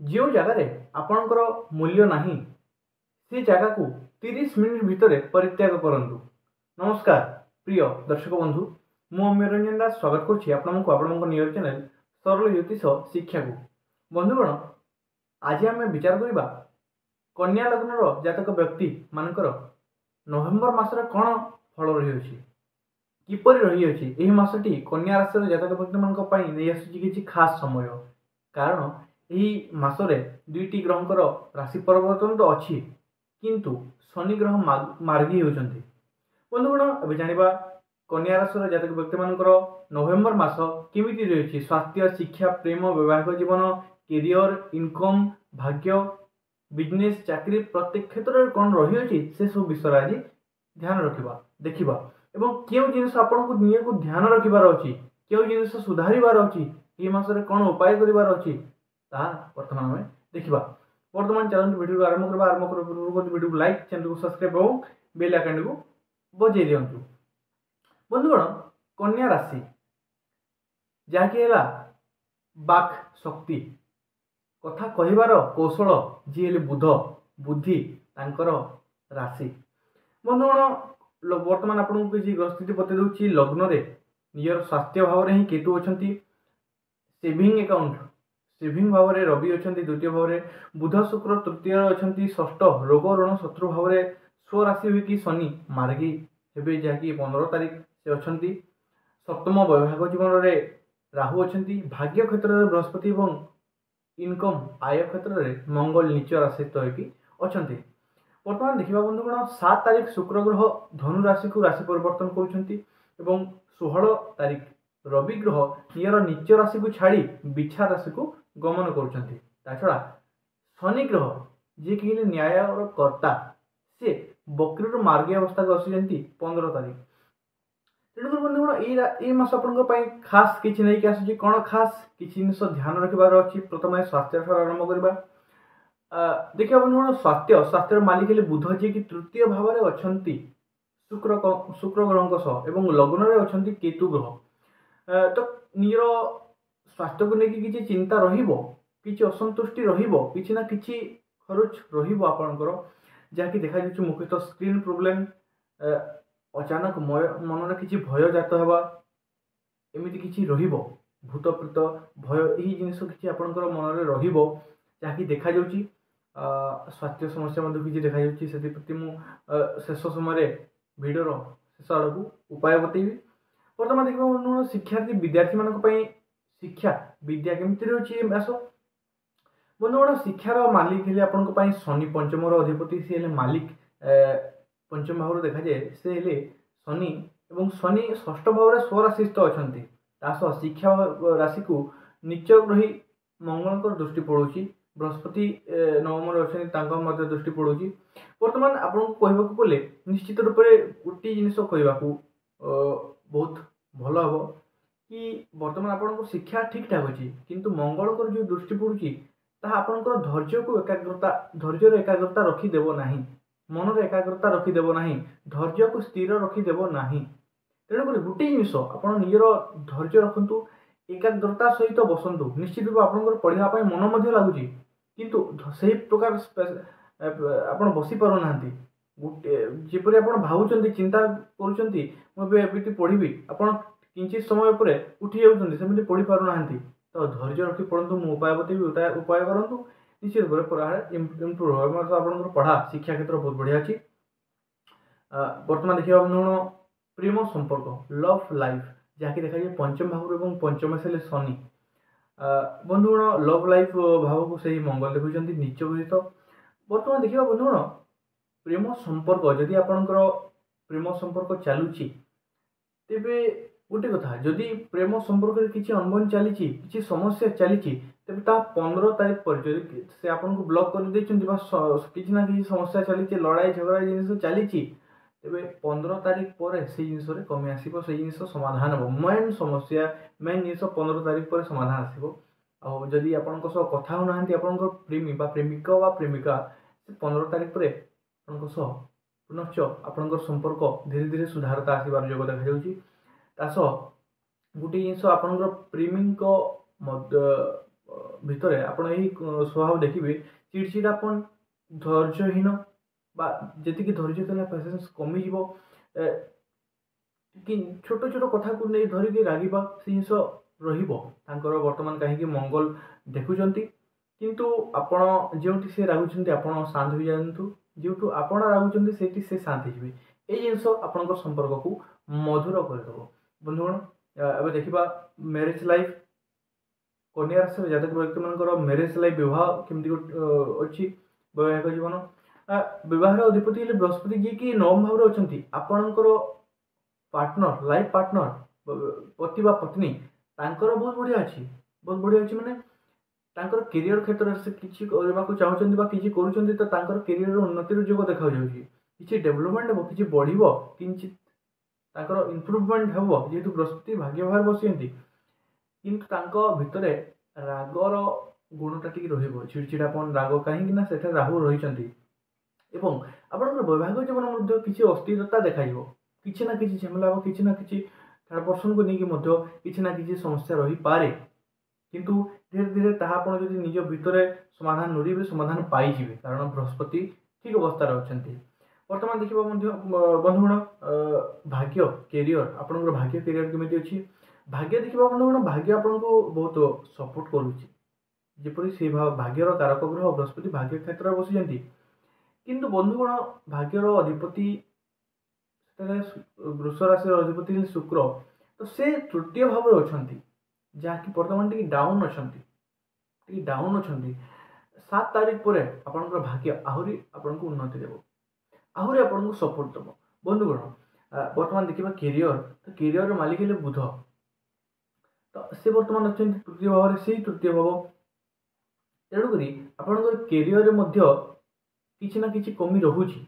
ଯେଉଁ ଜାଗାରେ ଆପଣଙ୍କର ମୂଲ୍ୟ ନାହିଁ ସେ ଜାଗାକୁ 30 ମିନିଟ୍ ଭିତରେ ପରିତ୍ୟାଗ କରନ୍ତୁ। ନମସ୍କାର ପ୍ରିୟ ଦର୍ଶକ ବନ୍ଧୁ, ମୁଁ ଅମ୍ୟ ରଞ୍ଜନ ଦାସ ସ୍ୱାଗତ କରୁଛି ଆପଣଙ୍କୁ ଆପଣଙ୍କ ନିଜ ଚ୍ୟାନେଲ୍ ସରଳ ଜ୍ୟୋତିଷ ଶିକ୍ଷାକୁ। ବନ୍ଧୁଗଣ, ଆଜି ଆମେ ବିଚାର କରିବା କନ୍ୟା ଲଗ୍ନର ଜାତକ ବ୍ୟକ୍ତିମାନଙ୍କର ନଭେମ୍ବର ମାସରେ କ'ଣ ଫଳ ରହିଅଛି, କିପରି ରହିଅଛି। ଏହି ମାସଟି କନ୍ୟା ରାଶିର ଜାତକ ବ୍ୟକ୍ତିମାନଙ୍କ ପାଇଁ ନେଇ ଆସୁଛି କିଛି ଖାସ୍ ସମୟ, କାରଣ ଏହି ମାସରେ ଦୁଇଟି ଗ୍ରହଙ୍କର ରାଶି ପରିବର୍ତ୍ତନ ତ ଅଛି, କିନ୍ତୁ ଶନି ଗ୍ରହ ମାର୍ଗୀ ହେଉଛନ୍ତି। ବନ୍ଧୁଗଣ, ଏବେ ଜାଣିବା କନ୍ୟା ରାଶିର ଜାତକ ବ୍ୟକ୍ତିମାନଙ୍କର ନଭେମ୍ବର ମାସ କେମିତି ରହିଛି। ସ୍ୱାସ୍ଥ୍ୟ, ଶିକ୍ଷା, ପ୍ରେମ, ବୈବାହିକ ଜୀବନ, କେରିୟର, ଇନକମ୍, ଭାଗ୍ୟ, ବିଜନେସ୍, ଚାକିରି, ପ୍ରତ୍ୟେକ କ୍ଷେତ୍ରରେ କ'ଣ ରହିଅଛି ସେସବୁ ବିଷୟରେ ଆଜି ଧ୍ୟାନ ରଖିବା, ଦେଖିବା ଏବଂ କେଉଁ ଜିନିଷ ଆପଣଙ୍କୁ ନିଜକୁ ଧ୍ୟାନ ରଖିବାର ଅଛି, କେଉଁ ଜିନିଷ ସୁଧାରିବାର ଅଛି, ଏହି ମାସରେ କ'ଣ ଉପାୟ କରିବାର ଅଛି, ତାହା ବର୍ତ୍ତମାନ ଆମେ ଦେଖିବା। ବର୍ତ୍ତମାନ ଚାଲନ୍ତୁ ଭିଡ଼ିଓକୁ ଆରମ୍ଭ କରିବା। ଆରମ୍ଭ କରିବା ପୂର୍ବରୁ ଭିଡ଼ିଓକୁ ଲାଇକ୍, ଚ୍ୟାନେଲକୁ ସବସ୍କ୍ରାଇବ୍ ଏବଂ ବେଲ୍ ଆଇକନ୍ଟିକୁ ବଜାଇ ଦିଅନ୍ତୁ। ବନ୍ଧୁଗଣ, କନ୍ୟା ରାଶି ଯାହାକି ହେଲା ବାକ୍ ଶକ୍ତି, କଥା କହିବାର କୌଶଳ, ଯିଏ ହେଲେ ବୁଧ, ବୁଦ୍ଧି ତାଙ୍କର ରାଶି। ବନ୍ଧୁଗଣ, ବର୍ତ୍ତମାନ ଆପଣଙ୍କୁ କିଛି ଗ୍ରହସ୍ଥିତି ବତାଇ ଦେଉଛି। ଲଗ୍ନରେ ନିଜର ସ୍ୱାସ୍ଥ୍ୟ ଭାବରେ ହିଁ କେତୁ ଅଛନ୍ତି, ସେଭିଂ ଆକାଉଣ୍ଟ ସେଭିଂ ଭାବରେ ରବି ଅଛନ୍ତି, ଦ୍ୱିତୀୟ ଭାବରେ ବୁଧ ଶୁକ୍ର ତୃତୀୟରେ ଅଛନ୍ତି, ଷଷ୍ଠ ରୋଗ ଋଣ ଶତ୍ରୁ ଭାବରେ ସ୍ୱରାଶି ହୋଇକି ଶନି ମାର୍ଗୀ ହେବେ, ଯାହାକି 15 ତାରିଖ ସେ ଅଛନ୍ତି। ସପ୍ତମ ବୈବାହିକ ଜୀବନରେ ରାହୁ ଅଛନ୍ତି, ଭାଗ୍ୟ କ୍ଷେତ୍ରରେ ବୃହସ୍ପତି ଏବଂ ଇନକମ୍ ଆୟ କ୍ଷେତ୍ରରେ ମଙ୍ଗଳ ନିଚ ରାଶିସ୍ଥ ହୋଇକି ଅଛନ୍ତି। ବର୍ତ୍ତମାନ ଦେଖିବା ବନ୍ଧୁଗଣ, 7 ତାରିଖ ଶୁକ୍ର ଗ୍ରହ ଧନୁ ରାଶିକୁ ରାଶି ପରିବର୍ତ୍ତନ କରୁଛନ୍ତି ଏବଂ 16 ତାରିଖ ରବି ଗ୍ରହ ନିଜର ନିଚ ରାଶିକୁ ଛାଡ଼ି ବିଛା ରାଶିକୁ ଗମନ କରୁଛନ୍ତି। ତା ଛଡ଼ା ଶନି ଗ୍ରହ ଯିଏକି ହେଲେ ନ୍ୟାୟର କର୍ତ୍ତା, ସେ ବକ୍ରରୁ ମାର୍ଗୀ ଅବସ୍ଥାକୁ ଆସୁଛନ୍ତି 15 ତାରିଖ। ତେଣୁକରି ବନ୍ଧୁଗଣ, ଏଇ ମାସ ଆପଣଙ୍କ ପାଇଁ ଖାସ୍ କିଛି ନେଇକି ଆସୁଛି। କ'ଣ ଖାସ୍ କିଛି ଜିନିଷ ଧ୍ୟାନ ରଖିବାର ଅଛି? ପ୍ରଥମେ ସ୍ୱାସ୍ଥ୍ୟ ଠାରୁ ଆରମ୍ଭ କରିବା। ଦେଖିବା ବନ୍ଧୁଗଣ, ସ୍ୱାସ୍ଥ୍ୟର ମାଲିକ ହେଲେ ବୁଧ, ଯିଏକି ତୃତୀୟ ଭାବରେ ଅଛନ୍ତି ଶୁକ୍ର ଗ୍ରହଙ୍କ ସହ ଏବଂ ଲଗ୍ନରେ ଅଛନ୍ତି କେତୁ ଗ୍ରହ। ତ ନିଜର ସ୍ୱାସ୍ଥ୍ୟକୁ ନେଇକି କିଛି ଚିନ୍ତା ରହିବ, କିଛି ଅସନ୍ତୁଷ୍ଟି ରହିବ, କିଛି ନା କିଛି ଖରଚ ରହିବ ଆପଣଙ୍କର, ଯାହାକି ଦେଖାଯାଉଛି ମୁଖ୍ୟତଃ ସ୍କ୍ରିନ୍ ପ୍ରୋବ୍ଲେମ୍, ଅଚାନକ ମନରେ କିଛି ଭୟ ଜାତ ହେବା, ଏମିତି କିଛି ରହିବ, ଭୂତ ପ୍ରେତ ଭୟ, ଏହି ଜିନିଷ କିଛି ଆପଣଙ୍କର ମନରେ ରହିବ, ଯାହାକି ଦେଖାଯାଉଛି। ସ୍ୱାସ୍ଥ୍ୟ ସମସ୍ୟା ମଧ୍ୟ କିଛି ଦେଖାଯାଉଛି, ସେଥିପ୍ରତି ମୁଁ ଶେଷ ସମୟରେ ଭିଡ଼ିଓର ଶେଷ ଆଡ଼କୁ ଉପାୟ ବତେଇବି। ବର୍ତ୍ତମାନ ଦେଖିବା ଶିକ୍ଷାର୍ଥୀ ବିଦ୍ୟାର୍ଥୀମାନଙ୍କ ପାଇଁ ଶିକ୍ଷା ବିଦ୍ୟା କେମିତି ରହୁଛି ଏ ମାସ। ବନ୍ଧୁଗଣ, ଶିକ୍ଷାର ମାଲିକ ହେଲେ ଆପଣଙ୍କ ପାଇଁ ଶନି, ପଞ୍ଚମର ଅଧିପତି ସେ ହେଲେ ମାଲିକ। ପଞ୍ଚମ ଭାବରୁ ଦେଖାଯାଏ ସେ ହେଲେ ଶନି ଏବଂ ଶନି ଷଷ୍ଠ ଭାବରେ ସ୍ୱରାଶିସ୍ଥ ଅଛନ୍ତି। ତା ସହ ଶିକ୍ଷା ରାଶିକୁ ନିଚ ଗ୍ରହୀ ମଙ୍ଗଳଙ୍କର ଦୃଷ୍ଟି ପଡ଼ୁଛି, ବୃହସ୍ପତି ନବମରେ ଅଛନ୍ତି, ତାଙ୍କ ମଧ୍ୟ ଦୃଷ୍ଟି ପଡ଼ୁଛି। ବର୍ତ୍ତମାନ ଆପଣଙ୍କୁ କହିବାକୁ ଗଲେ ନିଶ୍ଚିତ ରୂପରେ ଗୋଟିଏ ଜିନିଷ କହିବାକୁ ବହୁତ ଭଲ ହେବ କି ବର୍ତ୍ତମାନ ଆପଣଙ୍କ ଶିକ୍ଷା ଠିକ୍ ଠାକ୍ ଅଛି, କିନ୍ତୁ ମଙ୍ଗଳଙ୍କର ଯେଉଁ ଦୃଷ୍ଟି ପଡ଼ୁଛି ତାହା ଆପଣଙ୍କର ଧୈର୍ଯ୍ୟକୁ ଏକାଗ୍ରତା, ଧୈର୍ଯ୍ୟର ଏକାଗ୍ରତା ରଖିଦେବ ନାହିଁ, ମନର ଏକାଗ୍ରତା ରଖିଦେବ ନାହିଁ, ଧୈର୍ଯ୍ୟକୁ ସ୍ଥିର ରଖିଦେବ ନାହିଁ। ତେଣୁକରି ଗୋଟିଏ ଜିନିଷ, ଆପଣ ନିଜର ଧୈର୍ଯ୍ୟ ରଖନ୍ତୁ, ଏକାଗ୍ରତା ସହିତ ବସନ୍ତୁ। ନିଶ୍ଚିତ ରୂପେ ଆପଣଙ୍କର ପଢ଼ିବା ପାଇଁ ମନ ମଧ୍ୟ ଲାଗୁଛି, କିନ୍ତୁ ସେହି ପ୍ରକାର ଆପଣ ବସି ପାରୁନାହାନ୍ତି ଗୋଟେ ଯେପରି ଆପଣ ଭାବୁଛନ୍ତି, ଚିନ୍ତା କରୁଛନ୍ତି ମୁଁ ଏବେ ଏମିତି ପଢ଼ିବି, ଆପଣ କିଞ୍ଚିତ ସମୟ ପରେ ଉଠି ଯାଉଛନ୍ତି, ସେମିତି ପଢ଼ି ପାରୁନାହାନ୍ତି। ତ ଧୈର୍ଯ୍ୟ ରଖି ପଢ଼ନ୍ତୁ, ମୁଁ ଉପାୟ ବତେଇବି, ଉପାୟ କରନ୍ତୁ, ନିଶ୍ଚିତ ରୂପରେ ପଢ଼ା ଇମ୍ପ୍ରୁଭ୍ ହେବ। ଆପଣଙ୍କର ପଢ଼ା ଶିକ୍ଷା କ୍ଷେତ୍ର ବହୁତ ବଢ଼ିଆ ଅଛି। ବର୍ତ୍ତମାନ ଦେଖିବା ବନ୍ଧୁଗଣ, ପ୍ରେମ ସମ୍ପର୍କ, ଲଭ୍ ଲାଇଫ୍, ଯାହାକି ଦେଖାଯାଏ ପଞ୍ଚମ ଭାବରୁ ଏବଂ ପଞ୍ଚମ ହେଲେ ଶନି। ବନ୍ଧୁଗଣ, ଲଭ୍ ଲାଇଫ୍ ଭାବକୁ ସେହି ମଙ୍ଗଳ ଦେଖୁଛନ୍ତି ନିଚ ଗୃହୀତ। ବର୍ତ୍ତମାନ ଦେଖିବା ବନ୍ଧୁଗଣ, ପ୍ରେମ ସମ୍ପର୍କ, ଯଦି ଆପଣଙ୍କର ପ୍ରେମ ସମ୍ପର୍କ ଚାଲୁଛି ତେବେ ଗୋଟେ କଥା, ଯଦି ପ୍ରେମ ସମ୍ପର୍କରେ କିଛି ଅନବନ ଚାଲିଛି, କିଛି ସମସ୍ୟା ଚାଲିଛି, ତେବେ ତାହା 15 ତାରିଖ ପରେ ଯଦି ସେ ଆପଣଙ୍କୁ ବ୍ଲକ୍ କରିଦେଇଛନ୍ତି ବା କିଛି ନା କିଛି ସମସ୍ୟା ଚାଲିଛି, ଲଢ଼ାଇ ଝଗଡ଼ା ଜିନିଷ ଚାଲିଛି, ତେବେ 15 ତାରିଖ ପରେ ସେଇ ଜିନିଷରେ କମି ଆସିବ, ସେଇ ଜିନିଷ ସମାଧାନ ହେବ। ମେନ୍ ସମସ୍ୟା, ମେନ୍ ଜିନିଷ 15 ତାରିଖ ପରେ ସମାଧାନ ଆସିବ। ଆଉ ଯଦି ଆପଣଙ୍କ ସହ କଥା ହେଉନାହାନ୍ତି ଆପଣଙ୍କ ପ୍ରେମୀ ବା ପ୍ରେମିକ ବା ପ୍ରେମିକା, ସେ 15 ତାରିଖ ପରେ ଆପଣଙ୍କ ସହ ପୁନଶ୍ଚ ଆପଣଙ୍କର ସମ୍ପର୍କ ଧୀରେ ଧୀରେ ସୁଧାରତା ଆସିବାର ଯୋଗ ଦେଖାଯାଉଛି। ତା ସହ ଗୋଟିଏ ଜିନିଷ, ଆପଣଙ୍କର ପ୍ରେମୀଙ୍କ ମଧ୍ୟ ଭିତରେ ଆପଣ ଏହି ସ୍ୱଭାବ ଦେଖିବେ, ଚିଡ଼ଚିଡ଼ାପଣ, ଧୈର୍ଯ୍ୟହୀନ ବା ଯେତିକି ଧୈର୍ଯ୍ୟ ଥିଲା ପେସେନ୍ସ କମିଯିବ, କି ଛୋଟ ଛୋଟ କଥାକୁ ନେଇ ଧରିକି ରାଗିବା, ସେ ଜିନିଷ ରହିବ ତାଙ୍କର ବର୍ତ୍ତମାନ, କାହିଁକି ମଙ୍ଗଳ ଦେଖୁଛନ୍ତି। କିନ୍ତୁ ଆପଣ ଯେଉଁଠି ସେ ରାଗୁଛନ୍ତି ଆପଣ ଶାନ୍ତ ହୋଇଯାଆନ୍ତୁ, ଯେଉଁଠୁ ଆପଣ ରାଗୁଛନ୍ତି ସେଇଠି ସେ ଶାନ୍ତ ହେଇଯିବେ। ଏଇ ଜିନିଷ ଆପଣଙ୍କ ସମ୍ପର୍କକୁ ମଧୁର କରିଦେବ। ବନ୍ଧୁଗଣ, ଏବେ ଦେଖିବା ମ୍ୟାରେଜ୍ ଲାଇଫ୍। କନ୍ୟା ରାଶିର ଜାତକ ବ୍ୟକ୍ତିମାନଙ୍କର ମ୍ୟାରେଜ୍ ଲାଇଫ୍, ବିବାହ କେମିତି ଅଛି, ବୈବାହିକ ଜୀବନ। ବିବାହର ଅଧିପତି ହେଲେ ବୃହସ୍ପତି, ଯିଏକି ନବମ ଭାବରେ ଅଛନ୍ତି। ଆପଣଙ୍କର ପାର୍ଟନର, ଲାଇଫ୍ ପାର୍ଟନର, ପତି ବା ପତ୍ନୀ, ତାଙ୍କର ବହୁତ ବଢ଼ିଆ ଅଛି। ବହୁତ ବଢ଼ିଆ ଅଛି ମାନେ ତାଙ୍କର କେରିୟର କ୍ଷେତ୍ରରେ ସେ କିଛି କରିବାକୁ ଚାହୁଁଛନ୍ତି ବା କିଛି କରୁଛନ୍ତି, ତ ତାଙ୍କର କେରିୟରର ଉନ୍ନତିର ଯୋଗ ଦେଖାଯାଉଛି। କିଛି ଡେଭଲପମେଣ୍ଟ ହେବ, କିଛି ବଢ଼ିବ, କିଞ୍ଚିତ ତାଙ୍କର ଇମ୍ପ୍ରୁଭମେଣ୍ଟ ହେବ, ଯେହେତୁ ବୃହସ୍ପତି ଭାଗ୍ୟ ଭାବରେ ବସିଛନ୍ତି। କିନ୍ତୁ ତାଙ୍କ ଭିତରେ ରାଗର ଗୁଣଟା ଟିକେ ରହିବ, ଚିଡ଼ଚିଡ଼ାପଣ, ରାଗ, କାହିଁକି ନା ସେଠାରେ ରାହୁ ରହିଛନ୍ତି। ଏବଂ ଆପଣଙ୍କର ବୈବାହିକ ଜୀବନ ମଧ୍ୟ କିଛି ଅସ୍ଥିରତା ଦେଖାଯିବ, କିଛି ନା କିଛି ଝାମେଲା ହେବ, କିଛି ନା କିଛି ଥାର୍ଡ଼ ପର୍ସନକୁ ନେଇକି ମଧ୍ୟ କିଛି ନା କିଛି ସମସ୍ୟା ରହିପାରେ। କିନ୍ତୁ ଧୀରେ ଧୀରେ ତାହା ଆପଣ ଯଦି ନିଜ ଭିତରେ ସମାଧାନ ଲୋଡ଼ିବେ, ସମାଧାନ ପାଇଯିବେ, କାରଣ ବୃହସ୍ପତି ଠିକ୍ ଅବସ୍ଥାରେ ଅଛନ୍ତି। ବର୍ତ୍ତମାନ ଦେଖିବା ମଧ୍ୟ ବନ୍ଧୁଗଣ ଭାଗ୍ୟ, କେରିୟର। ଆପଣଙ୍କର ଭାଗ୍ୟ, କେରିୟର କେମିତି ଅଛି? ଭାଗ୍ୟ ଦେଖିବା ବନ୍ଧୁଗଣ, ଭାଗ୍ୟ ଆପଣଙ୍କୁ ବହୁତ ସପୋର୍ଟ କରୁଛି। ଯେପରି ସେଇ ଭାଗ୍ୟର କାରକ ଗ୍ରହ ବୃହସ୍ପତି ଭାଗ୍ୟ କ୍ଷେତ୍ରରେ ବସିଛନ୍ତି। କିନ୍ତୁ ବନ୍ଧୁଗଣ, ଭାଗ୍ୟର ଅଧିପତି ସେଠାରେ ବୃଷ ରାଶିର ଅଧିପତି ହେଲେ ଶୁକ୍ର, ତ ସେ ତୃତୀୟ ଭାବରେ ଅଛନ୍ତି, ଯାହାକି ବର୍ତ୍ତମାନ ଟିକେ ଡାଉନ୍ ଅଛନ୍ତି, ଟିକେ ଡାଉନ୍ ଅଛନ୍ତି। 7 ତାରିଖ ପରେ ଆପଣଙ୍କର ଭାଗ୍ୟ ଆହୁରି ଆପଣଙ୍କୁ ଉନ୍ନତି ଦେବ, ଆହୁରି ଆପଣଙ୍କୁ ସପୋର୍ଟ ଦେବ। ବନ୍ଧୁଗଣ, ବର୍ତ୍ତମାନ ଦେଖିବା କେରିୟର। ତ କେରିୟରର ମାଲିକ ହେଲେ ବୁଧ, ତ ସେ ବର୍ତ୍ତମାନ ଅଛନ୍ତି ତୃତୀୟ ଭାବରେ, ସେଇ ତୃତୀୟ ଭାବ। ତେଣୁକରି ଆପଣଙ୍କର କେରିୟରରେ ମଧ୍ୟ କିଛି ନା କିଛି କମି ରହୁଛି,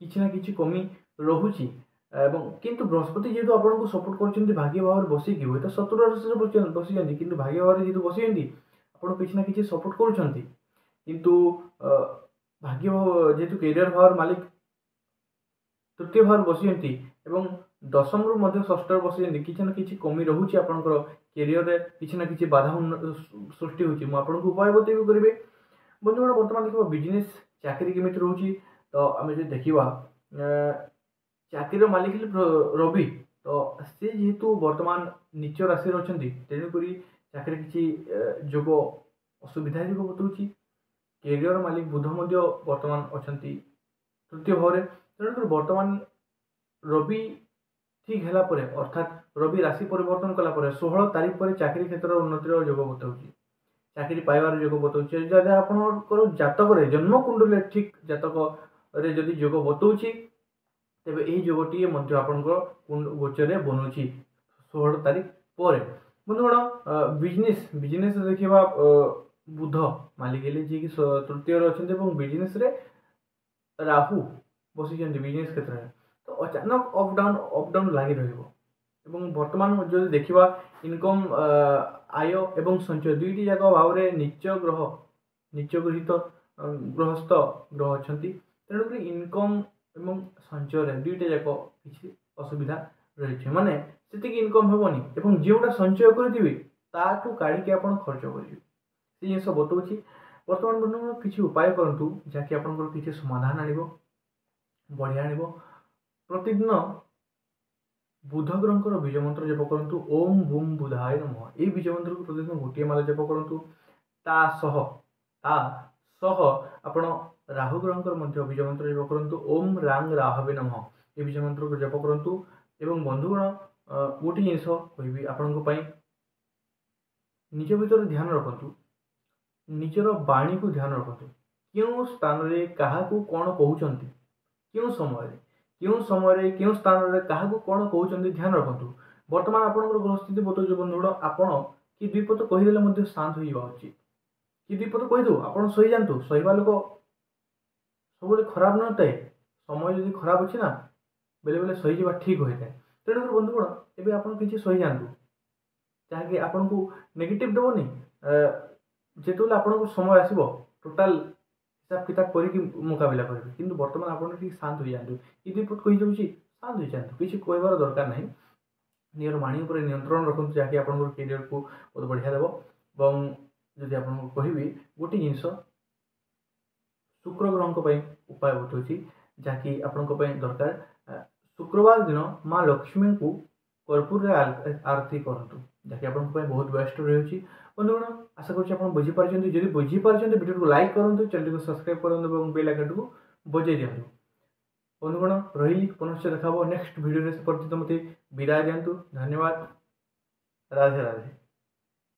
କିଛି ନା କିଛି କମି ରହୁଛି। ଏବଂ କିନ୍ତୁ ବୃହସ୍ପତି ଯେହେତୁ ଆପଣଙ୍କୁ ସପୋର୍ଟ କରୁଛନ୍ତି ଭାଗ୍ୟ ଭାବରେ ବସିକି, ହୁଏତ ଶତ୍ରୁ ରାଶିରେ ବସିଛନ୍ତି, କିନ୍ତୁ ଭାଗ୍ୟ ଭାବରେ ଯେହେତୁ ବସିଛନ୍ତି ଆପଣ କିଛି ନା କିଛି ସପୋର୍ଟ କରୁଛନ୍ତି। କିନ୍ତୁ ଭାଗ୍ୟ ଯେହେତୁ କେରିୟର ଭାବର ମାଲିକ ତୃତୀୟ ଭାବରେ ବସିଛନ୍ତି ଏବଂ ଦଶମରୁ ମଧ୍ୟ ଷଷ୍ଠରେ ବସିଛନ୍ତି, କିଛି ନା କିଛି କମି ରହୁଛି ଆପଣଙ୍କର କେରିୟରରେ, କିଛି ନା କିଛି ବାଧା ସୃଷ୍ଟି ହେଉଛି। ମୁଁ ଆପଣଙ୍କୁ ଉପାୟ ବତେଇବି କରିବେ। ବନ୍ଧୁଗଣ, ବର୍ତ୍ତମାନ ଦେଖିବା ବିଜନେସ୍, ଚାକିରି କେମିତି ରହୁଛି। ତ ଆମେ ଯଦି ଦେଖିବା, ଚାକିରିର ମାଲିକ ହେଲେ ରବି, ତ ସେ ଯେହେତୁ ବର୍ତ୍ତମାନ ନିଚ ରାଶିରେ ଅଛନ୍ତି, ତେଣୁକରି ଚାକିରି କିଛି ଯୋଗ ଅସୁବିଧା ଯୋଗ ବତାଉଛି। କେରିୟର ମାଲିକ ବୁଧ ମଧ୍ୟ ବର୍ତ୍ତମାନ ଅଛନ୍ତି ତୃତୀୟ ଭାବରେ। ତେଣୁକରି ବର୍ତ୍ତମାନ ରବି ଠିକ୍ ହେଲା ପରେ, ଅର୍ଥାତ୍ ରବି ରାଶି ପରିବର୍ତ୍ତନ କଲା ପରେ 16 ତାରିଖ ପରେ ଚାକିରି କ୍ଷେତ୍ରର ଉନ୍ନତିର ଯୋଗ ବତାଉଛି, ଚାକିରି ପାଇବାର ଯୋଗ ବତାଉଛି। ଯଦି ଆପଣଙ୍କର ଜାତକରେ ଜନ୍ମକୁଣ୍ଡରେ ଠିକ୍ ଜାତକରେ ଯଦି ଯୋଗ ବତାଉଛି, ତେବେ ଏହି ଯୋଗଟିଏ ମଧ୍ୟ ଆପଣଙ୍କର ଗୋଚରରେ ବନୁଛି 16 ତାରିଖ ପରେ। ବନ୍ଧୁଗଣ, ବିଜନେସ୍ ଦେଖିବା, ବୁଧ ମାଲିକ ହେଲେ ଯିଏକି ତୃତୀୟରେ ଅଛନ୍ତି ଏବଂ ବିଜନେସ୍ରେ ରାହୁ ବସିଛନ୍ତି ବିଜନେସ୍ କ୍ଷେତ୍ରରେ, ତ ଅଚାନକ ଅପ୍ ଡାଉନ୍ ଅପ୍ ଡାଉନ୍ ଲାଗି ରହିବ। ଏବଂ ବର୍ତ୍ତମାନ ଯଦି ଦେଖିବା ଇନକମ୍, ଆୟ ଏବଂ ସଞ୍ଚୟ ଦୁଇଟି ଯାକ ଭାବରେ ନିଚ ଗ୍ରହ, ନିଚ ଗୃହୀତ ଗୃହସ୍ଥ ଗ୍ରହ ଅଛନ୍ତି, ତେଣୁକରି ଇନକମ୍ ଏବଂ ସଞ୍ଚୟରେ ଦୁଇଟା ଯାକ କିଛି ଅସୁବିଧା ରହିଛି। ମାନେ ସେତିକି ଇନକମ୍ ହେବନି ଏବଂ ଯେଉଁଟା ସଞ୍ଚୟ କରିଥିବେ ତାଠୁ କାଢ଼ିକି ଆପଣ ଖର୍ଚ୍ଚ କରିବେ, ସେ ଜିନିଷ ବତାଉଛି। ବର୍ତ୍ତମାନ ବନ୍ଧୁଗଣ, କିଛି ଉପାୟ କରନ୍ତୁ ଯାହାକି ଆପଣଙ୍କର କିଛି ସମାଧାନ ଆଣିବ, ବଢ଼ିଆ ଆଣିବ। ପ୍ରତିଦିନ ବୁଧ ଗ୍ରହଙ୍କର ବୀଜ ମନ୍ତ୍ର ଜପ କରନ୍ତୁ, ଓମ୍ ବୁମ୍ ବୁଧାୟ ନମଃ। ଏଇ ବୀଜ ମନ୍ତ୍ରକୁ ପ୍ରତିଦିନ ଗୋଟିଏ ମାଲା ଜପ କରନ୍ତୁ। ତା ସହ ଆପଣ ରାହୁ ଗ୍ରହଙ୍କର ମଧ୍ୟ ବୀଜ ମନ୍ତ୍ର ଜପ କରନ୍ତୁ, ଓମ୍ ରାଙ୍ଗ ରାହବେ ନମଃ। ଏ ବୀଜ ମନ୍ତ୍ରକୁ ଜପ କରନ୍ତୁ। ଏବଂ ବନ୍ଧୁଗଣ, ଗୋଟିଏ ଜିନିଷ କହିବି ଆପଣଙ୍କ ପାଇଁ, ନିଜ ଭିତରେ ଧ୍ୟାନ ରଖନ୍ତୁ, ନିଜର ବାଣୀକୁ ଧ୍ୟାନ ରଖନ୍ତୁ, କେଉଁ ସ୍ଥାନରେ କାହାକୁ କ'ଣ କହୁଛନ୍ତି, କେଉଁ ସମୟରେ, କେଉଁ ସମୟରେ କେଉଁ ସ୍ଥାନରେ କାହାକୁ କ'ଣ କହୁଛନ୍ତି ଧ୍ୟାନ ରଖନ୍ତୁ। ବର୍ତ୍ତମାନ ଆପଣଙ୍କର ଗ୍ରହସ୍ଥିତି ବତାଉଛି ବନ୍ଧୁଗଣ, ଆପଣ କି ଦୁଇ ପଦ କହିଦେଲେ ମଧ୍ୟ ଶାନ୍ତ ହୋଇଯିବା ଉଚିତ। କି ଦୁଇ ପଦ କହିଦେଉ ଆପଣ ସହିଯାଆନ୍ତୁ। ସହିବା ଲୋକ ସବୁବେଳେ ଖରାପ ନଥାଏ। ସମୟ ଯଦି ଖରାପ ଅଛି ନା, ବେଳେବେଳେ ସହିଯିବା ଠିକ୍ ହୋଇଥାଏ। ତେଣୁକରି ବନ୍ଧୁଗଣ, ଏବେ ଆପଣ କିଛି ସହିଯାଆନ୍ତୁ, ଯାହାକି ଆପଣଙ୍କୁ ନେଗେଟିଭ୍ ଦେବନି। ଯେତେବେଳେ ଆପଣଙ୍କୁ ସମୟ ଆସିବ ଟୋଟାଲ୍ ହିସାବ କିତାବ କରିକି ମୁକାବିଲା କରିବେ, କିନ୍ତୁ ବର୍ତ୍ତମାନ ଆପଣ ଟିକେ ଶାନ୍ତ ହୋଇଯାଆନ୍ତୁ। କି ଦୁଇ ପଦ କହିଯାଉଛି, ଶାନ୍ତ ହୋଇଯାଆନ୍ତୁ, କିଛି କହିବାର ଦରକାର ନାହିଁ। ନିଜର ବାଣୀ ଉପରେ ନିୟନ୍ତ୍ରଣ ରଖନ୍ତୁ, ଯାହାକି ଆପଣଙ୍କର କେରିୟରକୁ ବହୁତ ବଢ଼ିଆ ଦେବ। ଏବଂ ଯଦି ଆପଣଙ୍କୁ କହିବି ଗୋଟେ ଜିନିଷ, ଶୁକ୍ର ଗ୍ରହଙ୍କ ପାଇଁ ଉପାୟ ବତାଉଛି, ଯାହାକି ଆପଣଙ୍କ ପାଇଁ ଦରକାର। ଶୁକ୍ରବାର ଦିନ ମା ଲକ୍ଷ୍ମୀଙ୍କୁ କର୍ପୂରରେ ଆରତି କରନ୍ତୁ, ଯାହାକି ଆପଣଙ୍କ ପାଇଁ ବହୁତ ବେଷ୍ଟ ରହିଛି। ବନ୍ଧୁଗଣ, ଆଶା କରୁଛି ଆପଣ ବୁଝିପାରିଛନ୍ତି। ଯଦି ବୁଝିପାରିଛନ୍ତି, ଭିଡ଼ିଓକୁ ଲାଇକ୍ କରନ୍ତୁ, ଚ୍ୟାନେଲକୁ ସବସ୍କ୍ରାଇବ୍ କରନ୍ତୁ ଏବଂ ବେଲ୍ ଆଇକନ୍ଟିକୁ ବଜାଇ ଦିଅନ୍ତୁ। ବନ୍ଧୁଗଣ, ରହିଲି, ପୁନଶ୍ଚ ଦେଖା ହେବ ନେକ୍ସଟ ଭିଡ଼ିଓରେ। ସେ ପର୍ଯ୍ୟନ୍ତ ମୋତେ ବିଦାୟ ଦିଅନ୍ତୁ। ଧନ୍ୟବାଦ। ରାଧେ ରାଧେ।